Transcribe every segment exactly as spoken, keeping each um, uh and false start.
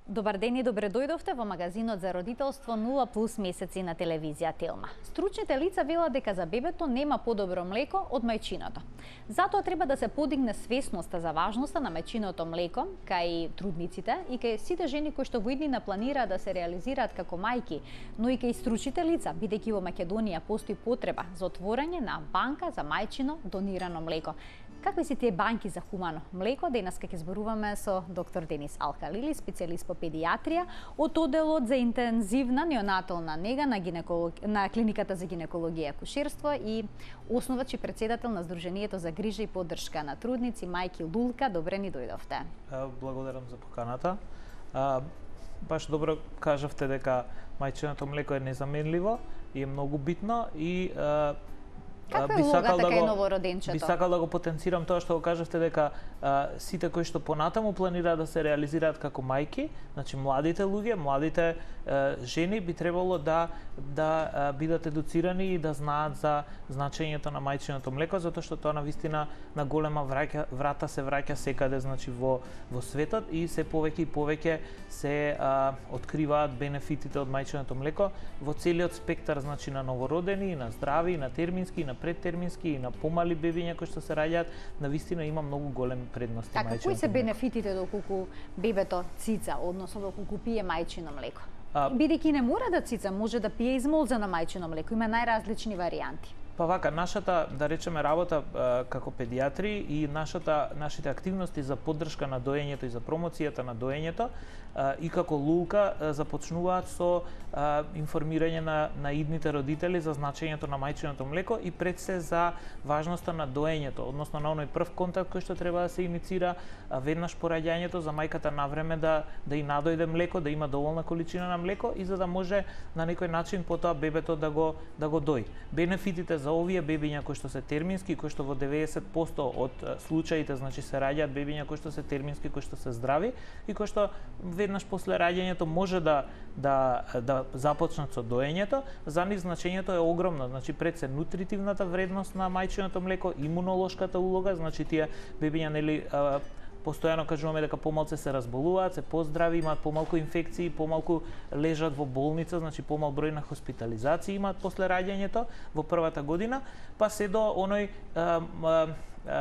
Добар ден и добре дојдовте во магазинот за родителство нула плюс месеци на телевизија Телма. Стручните лица велат дека за бебето нема подобро млеко од мајчиното. Затоа треба да се подигне свесноста за важноста на мајчиното млеко кај трудниците и кај сите жени кои што во иднина планираат да се реализираат како мајки, но и кај стручните лица, бидејќи во Македонија постои потреба за отворање на банка за мајчино донирано млеко. Какви се тие банки за хумано млеко? Денес ќе зборуваме со доктор Денис Алкалили, специјалист по педиатрија од оделот за интензивна неонатална нега на, гинеколог... на клиниката за гинекологија и акушерство и основач и председател на Сдруженијето за грижа и поддршка на трудници мајки Лулка. Добре ни дојдовте. Благодарам за поканата. А, баш добро кажавте дека мајчиното млеко е незаменливо и е многу битно и а, Каква е улогата кај новороденчето? Би сакал да го потенцирам тоа што го кажавте дека а, сите кои што понатаму планираат да се реализираат како мајки, значи младите луѓе, младите а, жени би требало да да а, бидат едуцирани и да знаат за значењето на мајчиното млеко, затоа што тоа навистина на голема враќа, врата се враќа секаде, значи во во светот и се повеќе и повеќе се а, откриваат бенефитите од мајчиното млеко во целиот спектар, значи на новородени, на здрави, на термински, на предтермински и на помали бебиња кои што се раѓаат, навистина има многу големи предности така, мајчиното. Кои се бенефитите доколку бебето цица, односно доколку пие мајчино млеко? А... Бидејќи не мора да цица, може да пие измолзено мајчино млеко, има најразлични варијанти. Па вака, нашата, да речеме, работа а, како педиатри и нашата, нашите активности за поддршка на доењето и за промоцијата на доењето а, и како Лулка а, започнуваат со а, информирање на, на идните родители за значењето на мајчиното млеко и пред се за важноста на доењето, односно на оној прв контакт кој што треба да се иницира а, веднаш по раѓањето за мајката навреме да да и надојде млеко, да има доволна количина на млеко и за да може на некој начин потоа бебето да го да го дои. Бенефитите за овие бебиња кои што се термински, кои што во деветдесет проценти од случаите, значи се раѓаат бебиња кои што се термински, кои што се здрави и кои што веднаш после раѓањето може да да да започнат со доењето, за нив значењето е огромно, значи пред се нутритивната вредност на мајчиното млеко, имунолошката улога, значи тие бебиња нели постојано кажуваме дека помалку се разболуваат, се поздрави, имаат помалку инфекции, помалку лежат во болница, значи помал број на хоспитализации имаат после раѓањето во првата година, па се до оној а, а,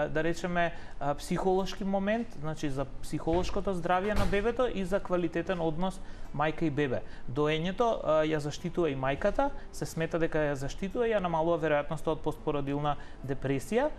да речеме а, психолошки момент, значи за психолошкото здравје на бебето и за квалитетен однос мајка и бебе. Доењето а, ја заштитува и мајката, се смета дека ја заштитува и ја намалува веројатноста од постпородилна депресија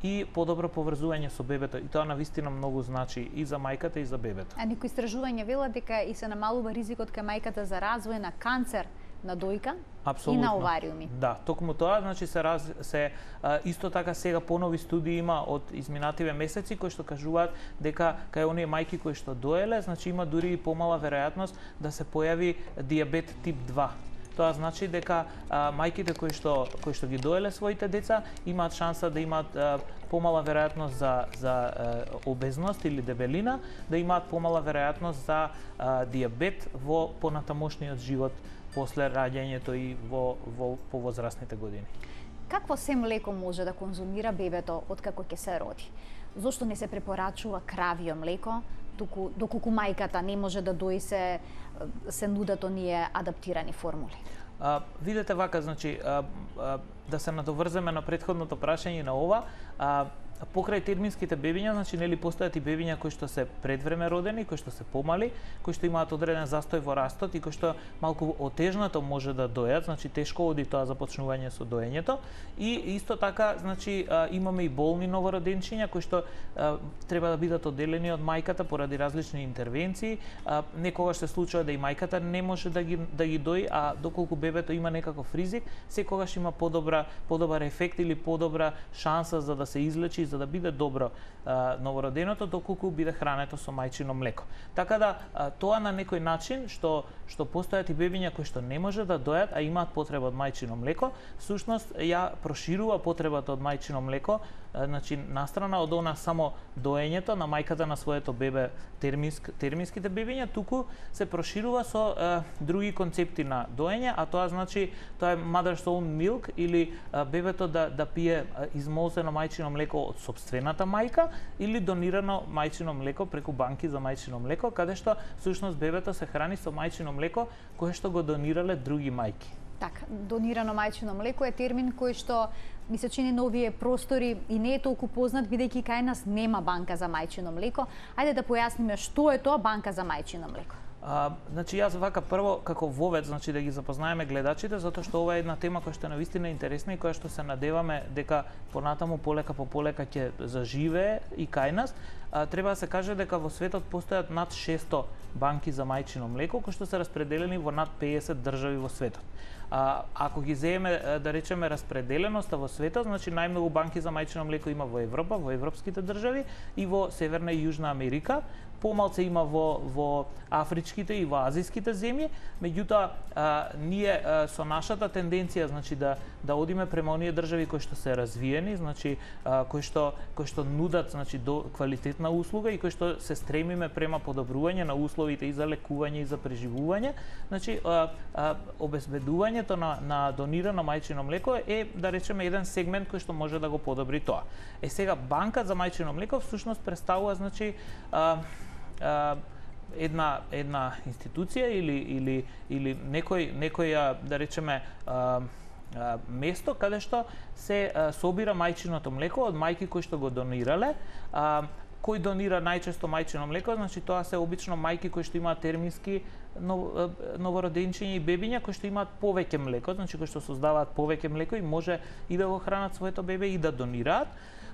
и подобро поврзување со бебето, и тоа навистина многу значи и за мајката и за бебето. А некои истражувања велат дека и се намалува ризикот кај мајката за развој на канцер на дојка. Апсолутно. И на овариуми. Да, токму тоа, значи се раз, се а, исто така сега понови студии има од изминативе месеци кои што кажуваат дека кај оние мајки кои што доеле, значи има дури и помала веројатност да се појави дијабет тип два. Тоа значи дека а, мајките кои што кои што ги доеле своите деца имаат шанса да имаат а, помала веројатност за за а, обезност или дебелина, да имаат помала веројатност за а, дијабет во понатамошниот живот после раѓањето и во во повозрастните години. Какво се млеко може да конзумира бебето откако ќе се роди? Зошто не се препорачува кравио млеко, доку доколку мајката не може да дои се се нудат оние адаптирани формули? А, видете вака, значи а, а, да се надоврземе на претходното прашање на ова, а, покрај терминските бебиња, значи нели постојат и бебиња кои што се предвреме родени, кои што се помали, кои што имаат одреден застој во растот и кои што малку отежнато може да дојат, значи тешко оди тоа започнување со доењето. И исто така, значи имаме и болни новороденчиња кои што а, треба да бидат одделени од мајката поради различни интервенции. А, некогаш се случува да и мајката не може да ги да ги дои, а доколку бебето има некаков ризик, секогаш има подобра подобар ефект или подобра шанса за да се излечи, за да биде добро а, новороденото доколку биде хрането со мајчино млеко. Така да а, тоа на некој начин што што постојат и бебиња кои што не може да дојат, а имаат потреба од мајчино млеко, всушност ја проширува потребата од мајчино млеко, а, значи настрана од она само доењето на мајката на своето бебе терминск, терминските бебиња, туку се проширува со а, други концепти на доење, а тоа значи тоа е mother's own milk или а, бебето да да пие измолзено мајчино млеко од од сопствената мајка или донирано мајчино млеко преку банки за мајчино млеко, каде што всушност бебето се храни со мајчино млеко кое што го донирале други мајки. Така, донирано мајчино млеко е термин кој што ми се чини на овие простори и не е толку познат, бидејќи кај нас нема банка за мајчино млеко. Ајде да појасниме што е тоа банка за мајчино млеко. А, значи јас вака прво како вовед, значи да ги запознаеме гледачите, затоа што ова е една тема која што е навистина интересна и која што се надеваме дека понатаму полека по полека ќе заживее и кај нас. А, треба да се каже дека во светот постојат над шесто банки за мајчино млеко кои што се распределени во над педесет држави во светот. А, ако ги земеме, да речеме, распределеноста во светот, значи најмногу банки за мајчино млеко има во Европа, во европските држави и во Северна и Јужна Америка. Помалце има во, во афричките и во азијските земји, меѓутоа а, ние а, со нашата тенденција, значи да да одиме према оние држави кои што се развиени, значи а, кои што кои што нудат, значи до квалитетна услуга и кои што се стремиме према подобрување на условите и за лекување и за преживување, значи а, а, обезбедувањето на на донирано мајчино млеко е, да речеме, еден сегмент кој што може да го подобри тоа. Е сега банка за мајчино млеко всушност представува, значи а, една една институција или или или некој некоја, да речеме, а, а, место каде што се а, собира мајчиното млеко од мајки кои што го донирале. А, кој донира најчесто мајчино млеко, значи тоа се обично мајки кои што имаат термински новороденчиња и бебиња кои што имаат повеќе млеко, значи кои што создаваат повеќе млеко и може и да го хранат своето бебе и да донираат.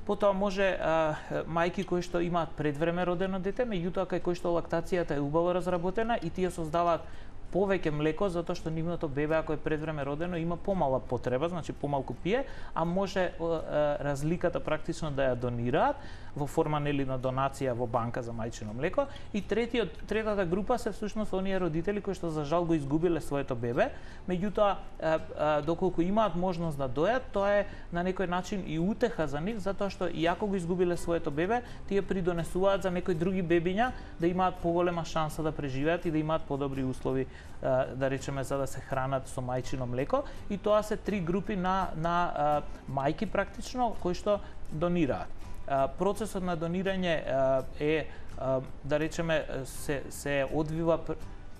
Потоа може а, мајки кои што имаат предвреме родено дете, меѓутоа кај кои што лактацијата е убаво разработена и тие создаваат повеќе млеко затоа што нивното бебе ако е предвреме родено има помала потреба, значи помалку пие, а може а, разликата практично да ја донираат во форма нели на донација во банка за мајчино млеко. И третиот третата група се всушност оние родители кои што за жал го изгубиле своето бебе, меѓутоа а, а, доколку имаат можност да дојат, тоа е на некој начин и утеха за нив, затоа што и ако го изгубиле своето бебе, тие придонесуваат за некои други бебиња да имаат поголема шанса да преживеат и да имаат подобри услови, да речеме, за да се хранат со мајчино млеко. И тоа се три групи на на а, мајки практично кои што донираат. А, процесот на донирање а, е а, да речеме се се одвива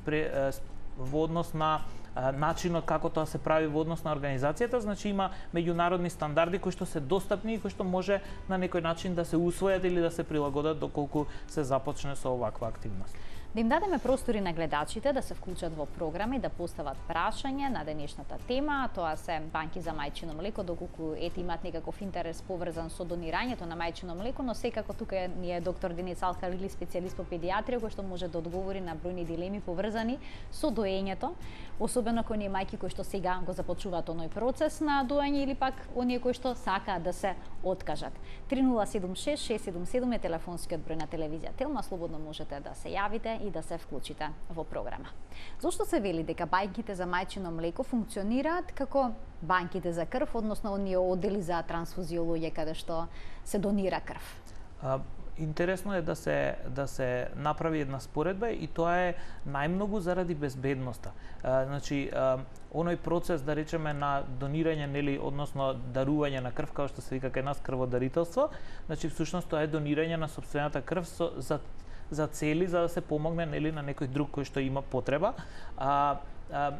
пре, а, во однос на а, начинот како тоа се прави во однос на организацијата, значи има меѓународни стандарди кои што се достапни и кои што може на некој начин да се усвојат или да се прилагодат доколку се започне со оваква активност. Да им дадеме простори на гледачите да се вклучат во програми, да постават прашање на денешната тема. Тоа се банки за мајчино млеко, доколку ете имаат некаков интерес поврзан со донирањето на мајчино млеко, но секако тука ни е доктор Денис Алкалили, специјалист по педиатрија, кој што може да одговори на бројни дилеми поврзани со доењето, особено кон оние мајки кои што сега го започнуваат оној процес на доење или пак оние кои што сакаат да се откажат. три нула седум шест шест седум седум е телефонскиот број на телевизија Телма, слободно можете да се јавите и да се вклучите во програма. Зошто се вели дека банките за мајчино млеко функционираат како банките за крв, односно оние оддели за трансфузиологија каде што се донира крв? А, интересно е да се да се направи една споредба и тоа е најмногу заради безбедноста. А, значи а, оној процес, да речеме, на донирање, нели, односно дарување на крв, како што се вика кај нас крводарителство, значи всушност тоа е донирање на сопствената крв со, за за цели за да се помогне, нели, на некој друг кој што има потреба. А, а,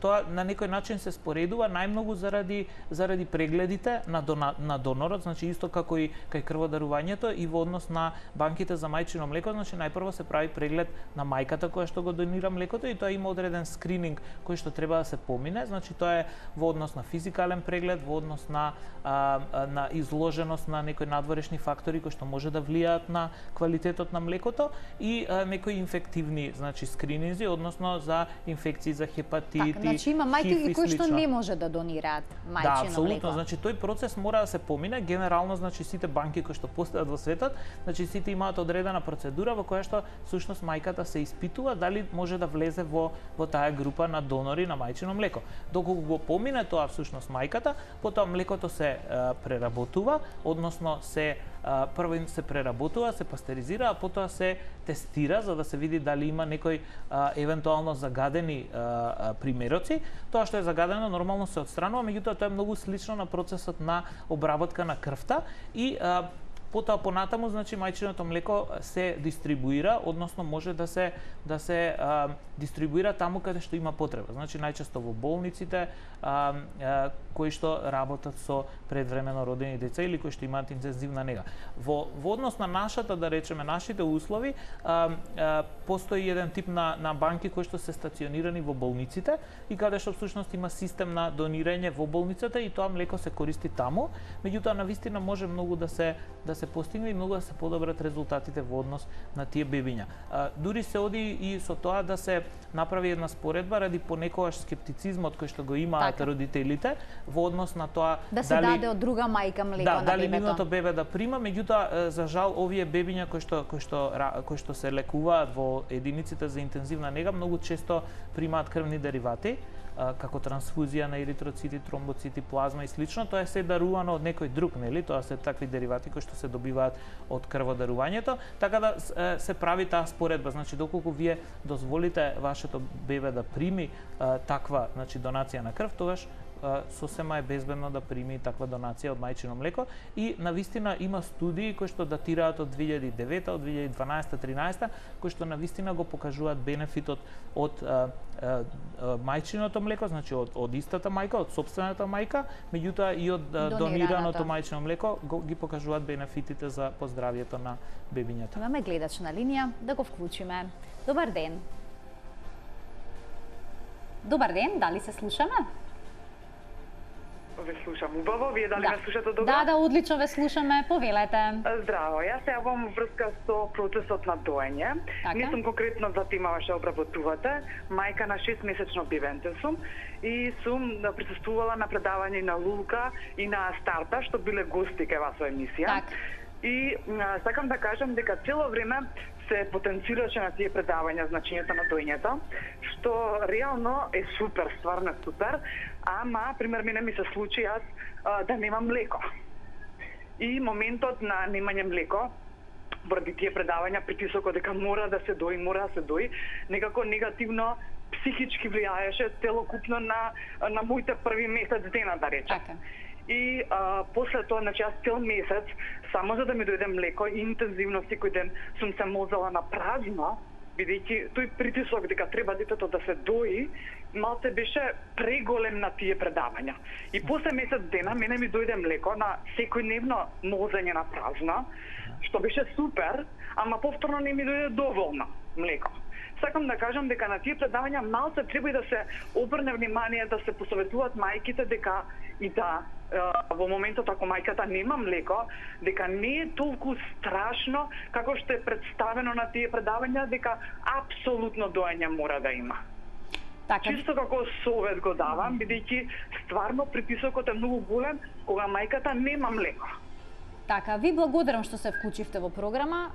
тоа на некој начин се споредува најмногу заради заради прегледите на дона, на донорот, значи исто како и кај крводарувањето и во однос на банките за мајчино млеко, значи најпрво се прави преглед на мајката која што го донира млекото и тоа има одреден скрининг кој што треба да се помине, значи тоа е во однос на физикален преглед, во однос на а, на изложеност на некои надворешни фактори кои што може да влијаат на квалитетот на млекото и а, некои инфективни, значи скрининзи, односно за инфекции за хепатити. Така, значи има мајки кои што не може да донираат мајчино да, млеко. апсолутно, значи тој процес мора да се помине. Генерално, значи сите банки кои што постојат во светот, значи сите имаат одредена процедура во која што всушност мајката се испитува дали може да влезе во во таа група на донори на мајчино млеко. Доколку го помине тоа всушност мајката, потоа млекото се а, преработува, односно се а, прво се преработува, се пастеризира, а потоа се тестира за да се види дали има некои а, евентуално загадени а, а, примероци. Тоа што е загадено нормално се отстранува, меѓутоа тоа е многу слично на процесот на обработка на крвта и а, Потоа понатаму, значи мајчиното млеко се дистрибуира, односно може да се да се а, дистрибуира таму каде што има потреба. Значи најчесто во болниците а, а, кои што работат со предвремено родени деца или кои што имаат интензивна нега. Во во однос на нашата, да речеме, нашите услови, а, а, постои еден тип на на банки кои што се стационирани во болниците и каде што всушност има систем на донирање во болницата и тоа млеко се користи таму. Меѓутоа навистина може многу да се да се постигне и многу да се подобрат резултатите во однос на тие бебиња. А, дури се оди и со тоа да се направи една споредба ради понекогаш скептицизмот кој што го имаат така родителите во однос на тоа да се дали, даде од друга мајка млеко да, на дали бебето. нивното бебе да прима, меѓутоа за жал овие бебиња кои што кои што кои што се лекуваат во единиците за интензивна нега многу често примаат крвни деривати како трансфузија на еритроцити, тромбоцити, плазма и слично. Тоа е се дарувано од некој друг, нели? Тоа се такви деривати кои што се добиваат од крводарувањето, така да се прави таа споредба. Значи доколку вие дозволите вашето бебе да прими а, таква, значи донација на крв, тогаш сосема е безбедно да прими таква донација од мајчино млеко и навистина има студии кои што датираат од две илјади и девета, од две илјади и дванаесета тринаесета, кои што навистина го покажуваат бенефитот од а, а, мајчиното млеко, значи од, од истата мајка, од сопствената мајка, меѓутоа и од а, донираното мајчино млеко го, ги покажуваат бенефитите за поздравието на бебињата. Имаме гледач на линија, да го вклучиме. Добар ден. Добар ден, дали се слушаме? Ве слушам убаво, вие дали да. ме слушате добро? Да, да, одлично ве слушаме, повелете. Здраво, јас се јавам врска со процесот на доење. Така. Не сум конкретно за темава што обработувате. Мајка на шестмесечно бебенце сум и сум присуствувала на предавање на Лулка и на Старта, што биле гости кај вас во емисија. Так. И а, сакам да кажам дека цело време се потенцираше на тие предавања значењето на доењето, што реално е супер, стварно е супер, ама, пример, мене ми се случи јас а, да немам млеко. И моментот на немање млеко, поради тие предавања, притисокот дека мора да се дои, мора да се дои, некако негативно психички влијаеше целокупно на, на моите први месец дена, да речем. Така. И а, после тоа, значи, јас цел месец, само за да ми дојде млеко, интензивно секој ден сум се мозала на празно, бидејќи тој притисок дека треба детето да се дои, малце беше преголем на тие предавања. И после месец дена мене ми дојде млеко на секојдневно мозење на празно, што беше супер, ама повторно не ми дојде доволно млеко. Сакам да кажам дека на тие предавања малце треба и да се обрне внимание, да се посоветуваат мајките дека и да во моментот ако мајката нема млеко, дека не е толку страшно како што е представено на тие предавања, дека апсолутно доење мора да има. Така. Чисто како совет го давам, бидејќи стварно притисокот е многу голем кога мајката нема млеко. Така, ви благодарам што се вклучивте во програма.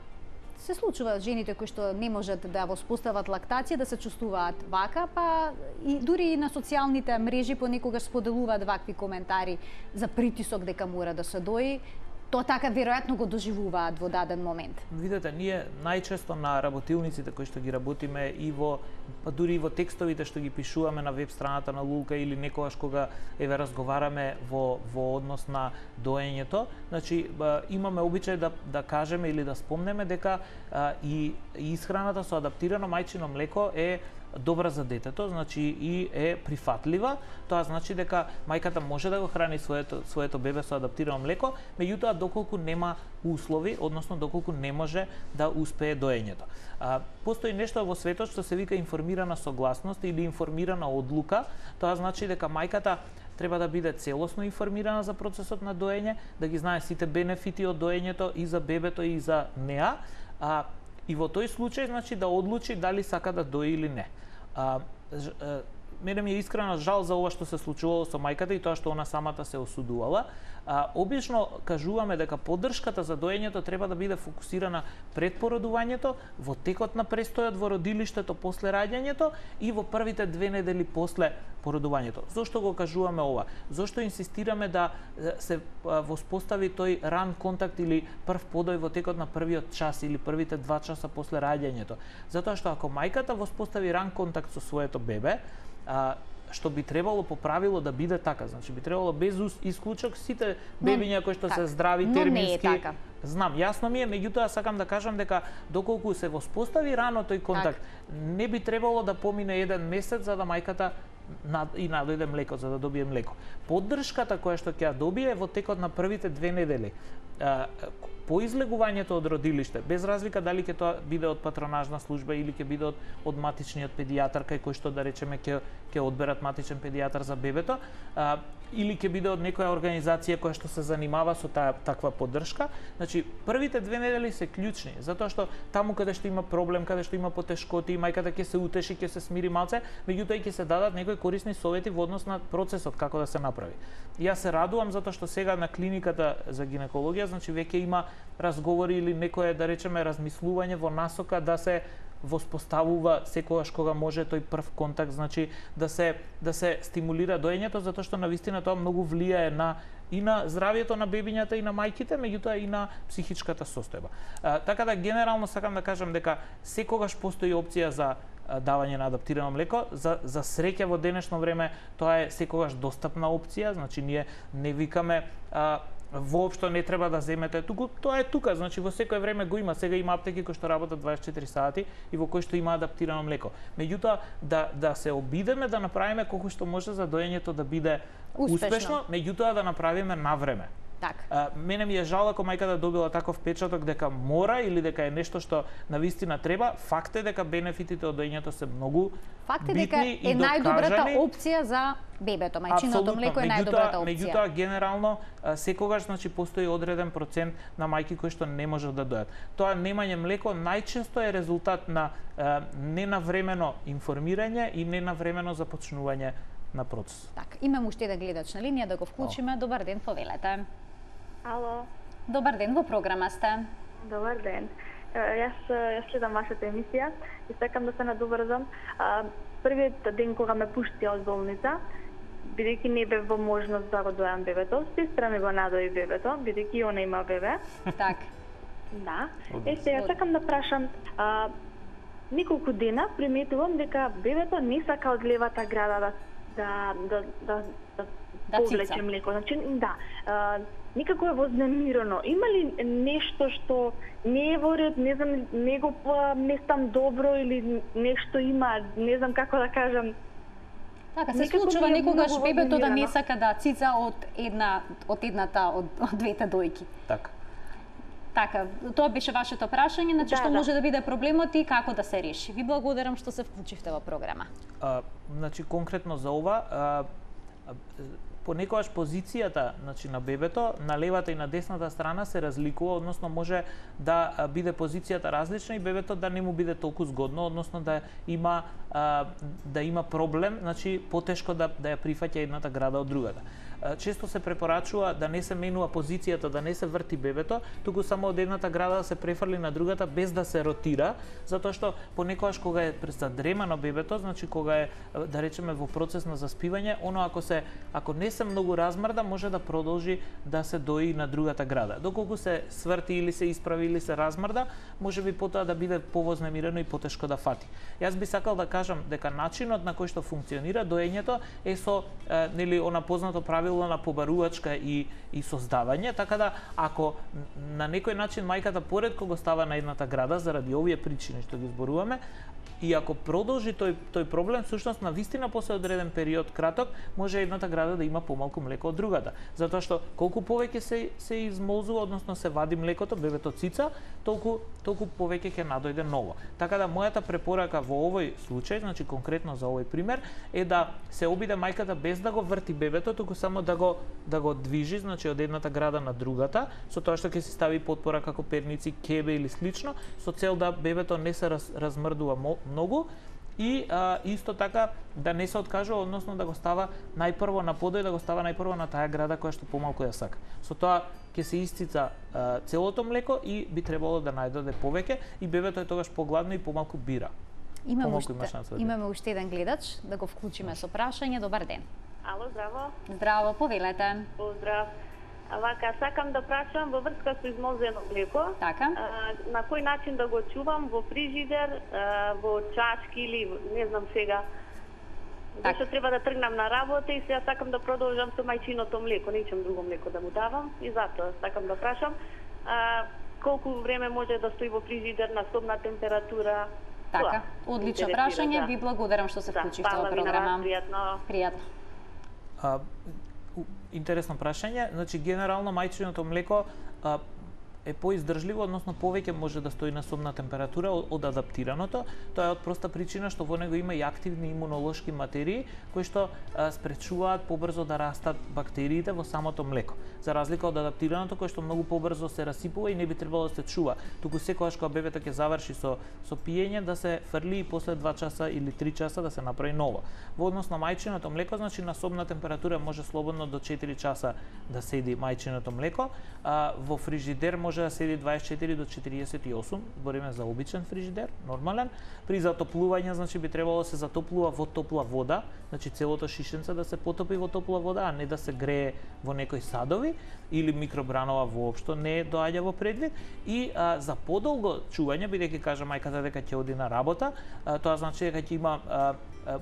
Се случува жените кои што не можат да воспостават лактација да се чувствуваат вака, па и дури и на социјалните мрежи понекогаш споделуваат вакви коментари за притисок дека мора да се дои. Тоа така веројатно го доживуваат во даден момент. Видете, ние најчесто на работилниците кои што ги работиме и во па дури и во текстовите што ги пишуваме на веб страната на Лулка или некогаш кога еве разговараме во во однос на доењето, значи имаме обичај да да кажеме или да спомнеме дека а, и исхраната со адаптирано мајчино млеко е добра за детето, значи и е прифатлива. Тоа значи дека мајката може да го храни своето своето бебе со адаптирано млеко, меѓутоа доколку нема услови, односно доколку не може да успее доењето. А, постои нешто во светот што се вика информирана согласност или информирана одлука. Тоа значи дека мајката треба да биде целосно информирана за процесот на доење, да ги знае сите бенефити од доењето и за бебето и за неа, а и во тој случај значи да одлучи дали сака да дои или не. А, ж, а, мене ми е искрено жал за ова што се случувало со мајката и тоа што она самата се осудувала. А, обично кажуваме дека поддршката за доењето треба да биде фокусирана пред породувањето, во текот на престојот во родилиштето после раѓањето и во првите две недели после породувањето. Зошто го кажуваме ова? Зошто инсистираме да се воспостави тој ран контакт или прв подој во текот на првиот час или првите два часа после раѓањето? Затоа што ако мајката воспостави ран контакт со своето бебе, а, што би требало по правило да биде така, значи би требало без исклучок сите бебиња кои што се здрави термински, знам, јасно ми е, меѓутоа сакам да кажам дека доколку се воспостави рано тој контакт, так. не би требало да помине еден месец за да мајката и надојде млеко, за да добие млеко. Поддршката која што ќе ја добие во текот на првите две недели, по излегувањето од родилиште, без разлика дали ќе тоа биде од патронажна служба или ќе биде од, од матичниот педијатар, кај кој што да речеме ќе ќе одберат матичен педијатар за бебето, а, или ќе биде од некоја организација која што се занимава со таа таква поддршка. Значи, првите две недели се клучни, затоа што таму каде што има проблем, каде што има потешкоти, мајката ќе се утеши, ќе се смири малце, меѓутоа ќе се дадат некои корисни совети во однос на процесот како да се направи. Јас се радувам затоа што сега на клиниката за гинекологија, значи веќе има разговори или некое, да речеме, размислување во насока да се воспоставува секогаш кога може тој прв контакт, значи да се да се стимулира доењето, затоа што навистина тоа многу влијае на и на здравјето на бебињата и на мајките, меѓутоа и на психичката состојба. А, така да генерално сакам да кажам дека секогаш постои опција за давање на адаптирано млеко. За, за среќа во денешно време тоа е секогаш достапна опција, значи ние не викаме а, воопшто не треба да земете туку, тоа е тука, значи во секое време го има. Сега има аптеки кои што работат дваесет и четири сати и во кои што има адаптирано млеко. Меѓутоа да да се обидеме да направиме колку што може за доењето да биде успешно, успешно меѓутоа да направиме на време. Так. А, мене ми е жал ако мајката добила таков печаток дека мора или дека е нешто што навистина треба. Факт е дека бенефитите од доењето се многу Факт е битни дека и е најдобрата опција за бебето, мајчиното млеко е најдобрата опција. Меѓутоа генерално секогаш значи постои одреден процент на мајки кои што не можат да дојат. Тоа немање млеко најчесто е резултат на е, ненавремено информирање и ненавремено започнување на процес. Так, имам уште еден гледач на линија, да го вклучиме. О. Добар ден, повелете. Ало. Добар ден, во програма сте. Добар ден. Јас јас следам вашата емисија и сакам да се надоврзам. Првиот ден кога ме пушти од болница, бидејќи не бев во можност да го дојам бебето, сестра ми го надои бебето, бидејќи она има бебе. Так. Да. Е, сега сакам да прашам, а, неколку дена приметувам дека бебето не сака од левата града да да да да да, да повлече млеко. Значи, да. А, никако е вознемирено. Има ли нешто што не е во ред, не знам, не го местам добро или нешто има, не знам како да кажам. Така се случува некогаш бебето да не сака да цица од една од едната од, од двете дојки. Така. Така, тоа беше вашето прашање, значи да, што да. може да биде проблемот и како да се реши. Ви благодарам што се вклучивте во програма. А, значи конкретно за ова, а, понекогаш позицијата значи, на бебето на левата и на десната страна се разликува, односно може да биде позицијата различна и бебето да не му биде толку згодно, односно да има а, да има проблем, значи потешко да да ја прифаќа едната града од другата. Често се препорачува да не се менува позицијата, да не се врти бебето, туку само од едната града да се префрли на другата без да се ротира, затоа што понекогаш кога е задремано бебето, значи кога е да речеме во процес на заспивање, оно ако се ако не се многу размрда, може да продолжи да се дои на другата града. Доколку се сврти или се исправи или се размрда, може би потоа да биде повознемирено и потешко да фати. Јас би сакал да кажам дека начинот на кој што функционира доењето е со е, нели она познато правило на побарувачка и и создавање, така да ако на некој начин мајката поретко го става на едната града заради овие причини што ги зборуваме, и ако продолжи тој тој проблем, всушност на вистина после одреден период краток, може едната града да има помалку млеко од другата, затоа што колку повеќе се се измолзува, односно се вади млекото, бебето цица, толку толку повеќе ќе надојде ново. Така да мојата препорака во овој случај, значи конкретно за овој пример, е да се обиде мајката без да го врти бебето, туку само да го да го движи, значи од едната града на другата, со тоа што ќе се стави потпора како перници, кебе или слично, со цел да бебето не се раз, размрдува многу и а, исто така да не се откажува, односно да го става најпрво на подој, да го става најпрво на таа града која што помалку ја сака. Со тоа ќе се исцица а, целото млеко и би требало да најдоде повеќе и бебето е тогаш погладно и помалку бира. Имаме уште, имаме уште еден гледач, да го вклучиме со прашање. Добар ден. Ало, здраво. Здраво, повелете. Поздрав. Вака, сакам да прашам во врска со измолзено млеко. Така. А, на кој начин да го чувам, во фрижидер, а, во чашки или не знам сега. Так. Зашто треба да тргнам на работа и сега сакам да продолжам со мајчиното млеко, не ичам друго млеко да му давам и затоа сакам да прашам. а, колку време може да стои во фрижидер на собна температура. Така, одлично прашање, да. Ви благодарам што се вклучивте во Да, програма. пријатно. Пријатно. А, интересно прашање. Значи, генерално мајчиното млеко а, е поиздржливо, односно повеќе може да стои на собна температура од, од адаптираното. Тоа е од проста причина што во него има и активни имунолошки материи кои што а, спречуваат побрзо да растат бактериите во самото млеко. За разлика од адаптираното кој што многу побрзо се расипува и не би требало да се чува. Туку секогаш кога бебето ќе заврши со со пиење да се фрли и после два часа или три часа да се направи ново. Во однос на мајчиното млеко, значи на собна температура може слободно до четири часа да седи мајчиното млеко, а во фрижидер може да седи дваесет и четири до четириесет и осум, збориме за обичен фрижидер, нормален. При затоплување, значи би требало да се затоплува во топла вода, значи целото шишенце да се потопи во топла вода, а не да се грее во некои садови или микробранова воопшто не доаѓа во предвид. И а, за подолго чување, бидејќи кажа мајката дека ќе оди на работа, а, тоа значи дека ќе има а,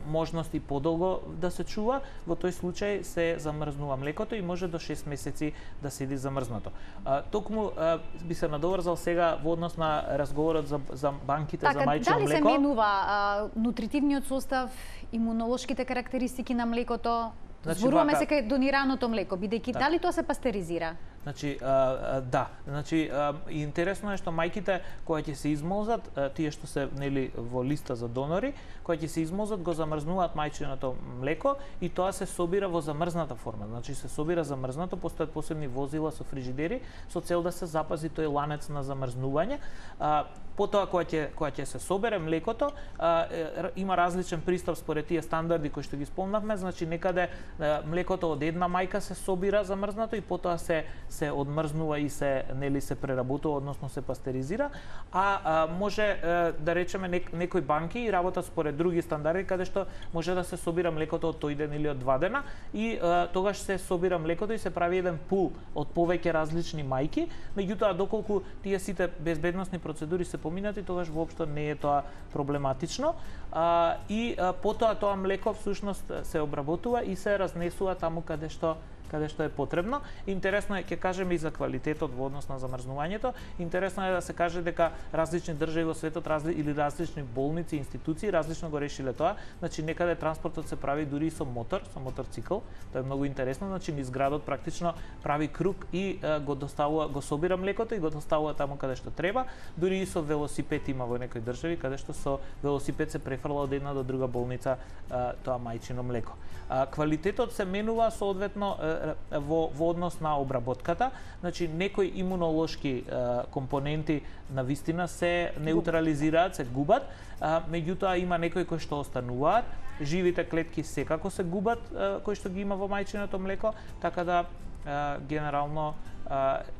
можности подолго да се чува, во тој случај се замрзнува млекото и може до шест месеци да седи замрзнато. А, токму а, би се надоврзал сега во однос на разговорот за, за банките така, за мајчино млеко. Дали се менува а, нутритивниот состав, имунолошките карактеристики на млекото? Значи, Зборуваме вака... се кај донираното млеко, бидејќи так. Дали тоа се пастеризира? Значи, а, а, да, значи а, интересно е што мајките кои ќе се измолзат, а, тие што се нели во листа за донори, кои ќе се измолзат го замрзнуваат мајчиното млеко и тоа се собира во замрзната форма. Значи се собира замрзнато, постојат посебни возила со фрижидери со цел да се запази тој ланец на замрзнување. А, потоа кога ќе кога ќе се собере млекото, а, е, има различен пристап според тие стандарди кои што ги спомнавме, значи некаде е, млекото од една мајка се собира замрзнато и потоа се се одмрзнува и се нели се преработува, односно се пастеризира, а, а може е, да речеме нек, некои банки и работат според други стандарди каде што може да се собира млекото од тој ден или од два дена и е, тогаш се собира млекото и се прави еден пул од повеќе различни мајки, меѓутоа доколку тие сите безбедносни процедури се поминати, тогаш воопшто не е тоа проблематично. А, и а, потоа тоа млеко всушност се обработува и се разнесува таму каде што каде што е потребно. Интересно е, ќе кажеме и за квалитетот во однос на замрзнувањето. Интересно е да се каже дека различни држави во светот разли, или различни болници, институции различно го решиле тоа. Значи некаде транспортот се прави дури и со мотор, со моторцикл. Тоа е многу интересно, значи низ градот практично прави круг и е, го доставува, го собира млекото и го доставува таму каде што треба. Дури и со велосипед има во некои држави каде што со велосипед се префрла од една до друга болница е, тоа мајчино млеко. А, квалитетот се менува соодветно е, во, во однос на обработката, значи некои имунолошки е, компоненти на вистина се неутрализираат, се губат, а, меѓутоа има некои кои што остануваат, живите клетки секако се губат е, кои што ги има во мајчиното млеко, така да е, генерално е,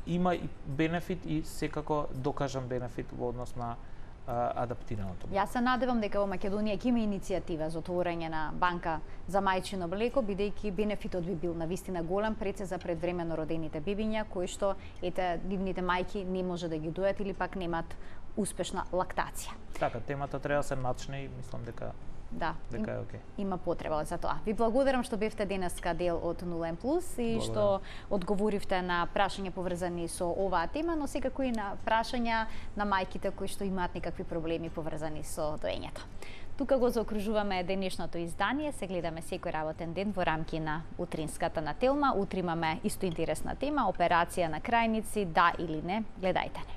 има и бенефит и секако докажан бенефит во однос на адаптираното. Јас се надевам дека во Македонија ќе има иницијатива за отворање на банка за мајчино млеко, бидејќи бенефитот би бил навистина голем пред се за предвремено родените бебиња кои што ете нивните мајки не може да ги дојат или пак немаат успешна лактација. Така, темата треба да се начне и мислам дека Да, дека е окей. Има потреба за тоа. Ви благодарам што бевте денеска дел од нула М плюс и благодарам што одговоривте на прашања поврзани со оваа тема, но секако и на прашања на мајките кои што имаат некакви проблеми поврзани со доењето. Тука го заокружуваме денешното издание, се гледаме секој работен ден во рамки на утринската на Телма. Утре имаме исто интересна тема, операција на крајници, да или не, гледајте не.